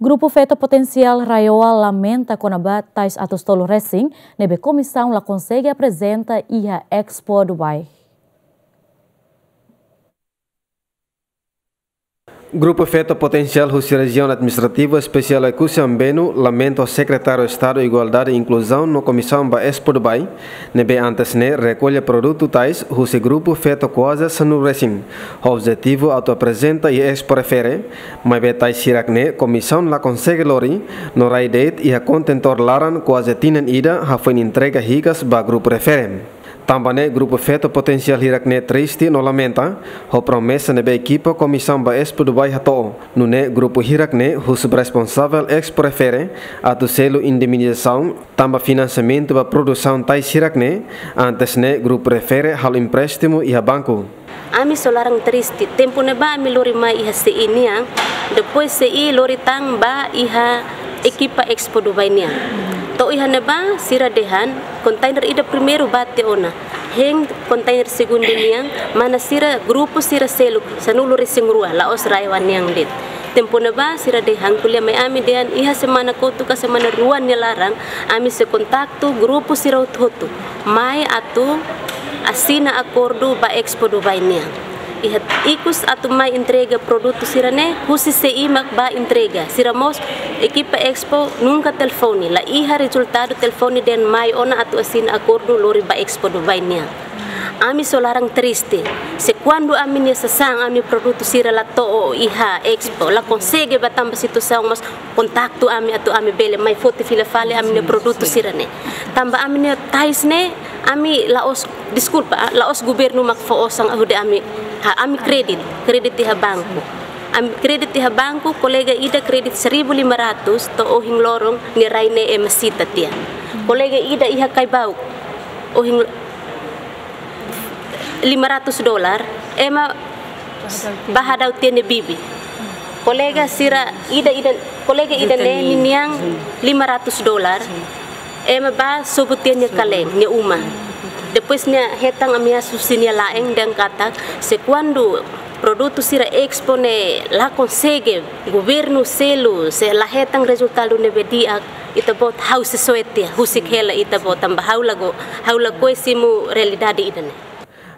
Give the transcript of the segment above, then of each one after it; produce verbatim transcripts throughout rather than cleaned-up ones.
Grupu Feto Potensiál RAEOA lamenta kona-ba tais atus tolu resin ne'ebé komisaun la konsege aprezenta iha Expo Dubai. Grupu Feto Potensiál husi Rejiaun Administrativa Espesiál Oekusi Ambenu lamenta ho Sekretáriu Estadu Igualdade, Inkluzaun no Komisaun ba Expo Dubai, ne'ebé antes ne'e rekolla produtu tais husi grupu feto kuaze sanulu resin, ho objetivu atu aprezenta iha Expo refere, maibé tais hirak ne'e komisaun la konsege lori, no rai de'it iha kontentór laran kuaze tinan ida hafoin entrega hikas ba grupu refere. Tanba ne'e grupu feto potensiál hirak ne'e triste no lamenta ho promesa ne'ebé ekipa komisaun ba Expo Dubai hato'o. Nune'e grupu hirak ne'e husu ba responsavel Expo refere atu selu indemnizasaun tanba finansiamentu ba produsaun tais hirak ne'e, antes ne'e grupu refere halo empréstimu iha banku. Ami só laran triste, tempu ne'ebá ami lori mai iha C I nian, depois C I lori tan ba iha ekipa Expo Dubai nian. To'o iha ne'ebá sira dehan, kontainer ida primeiru bá tiha ona. Hein kontainer segundu nian, mana sira grupu sira seluk, sanulu resin rua, la'ós RAEOA nian de'it. Tempu ne'ebá sira dehan ko'alia mai ami dehan iha semana kotuk ka semana rua nia laran, ami sei kontaktu grupu sira hotu-hotu mai atu asina akordu ba Expo Dubai nian. Iha ikus atu mai entrega produtu sira-ne'e, husi C I mak bá entrega. Sira mós ekipa Expo nunka telefone, la iha rezultadu telefone dehan mai ona atu asina akordu lori ba Expo Dubai nian. Ami só laran triste. Se kuandu ami-nia sasán, ami-nia produtu sira la to'o iha Expo, la konsege bá tanba situasaun, mas kontaktu ami atu ami bele mai foti fila fali ami-nia produtu sira-ne'e. Tanba ami-nia tais ne'e, ami la'ós, deskulpa, ah, la'ós governu mak fó osan hodi ami, ha, ami kredit, kredit iha banku. Ami kredit iha banku, kolega ida kredit seribu lima ratus, to'o ohin loron nia rai ne'e ema sita tiha. Kolega ida iha Kaibau, ohin lima ratus dolar, ema bá hadau tiha nia bibi. Kolega sira ida, ida, kolega ida ne'e ninian lima ratus dolar, ema bá sobu tiha nia kalen, nia uma. Depois nia hetan ameasa husi nia la'en dehan katak, se kuandu produtu sira Expo ne'e la konsege governu selu, se la hetan rezultadu ne'ebé di'ak, ita-boot ha'u sei soe tiha, husik hela ita-boot tanba ha'u lakohi, ha'u lakohi simu realidade ida-ne'e.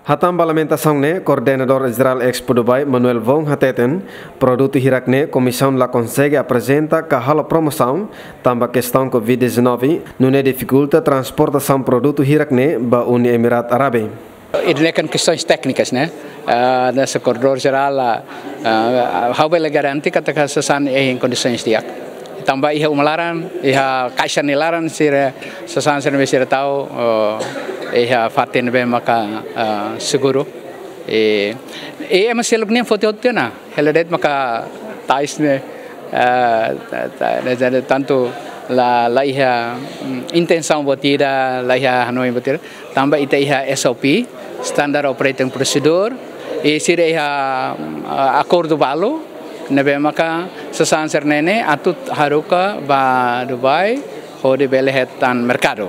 Hatán ba lamentasaun ne'e, Koordenadór Jerál Expo Dubai, Manuel Wong hateten, produtu hirak ne'e komisaun la konsege aprezenta ka halo promosaun, tanba kestaun covid dezanove, nune'e difikulta transportasaun produtu hirak ne'e ba Uni Emirat Árabe. Ida-ne'e kan kestaun téknika, ne'e? Ah, hanesan Koordenadór Jerál, ah, ah, ha'u bele garante katak sasán iha kondisaun di'ak. Tanba iha uma laran, iha kaixa nia laran sira, sasán sira-ne'ebé sira tau, oh, iha fatin ne'ebé maka, ah, seguru. I, i ema seluk nian foti hotu ona. Hela de'it maka tais ne'e, ah, ta-, ta-, ta-, tantu la, la iha, mm, intensaun buat ida, la iha hanoin buat ida. Tanba ita iha S O P, Standard Operating Procedure, i sira iha, ah, akordu balu, ne'ebé maka sasán sira-ne'e atu haruka ba Dubai, hodi bele hetan merkadu.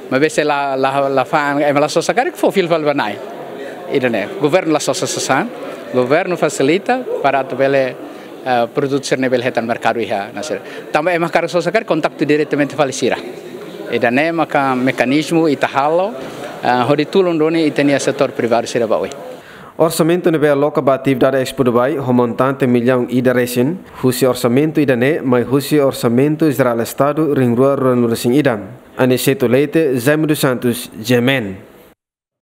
Maibé se la, la, la fa'an, ema la sosa karik fó fila fali ba Nai. Ida-ne'e, governu la sosa sasán, governu fasilita para atu bele eh, produtu sira-ne'e bele hetan merkadu iha ne'e sira. Tanba ema hakarak sosa karik kontaktu diretamente fali sira. Ida-ne'e maka mekanizmu ita halo, eh, hodi tulun duni ita-nia setór privadu sira ba oin. Orsamentu ne'ebé aloka ba atividade Expo Dubai ho montante millaun ida resin, husi orsamentu ida-ne'e mai husi Orsamentu Jerál Estadu rihun rua ruanulu resin ida. Aniceto Leite, Jaime dos Santos, G M N.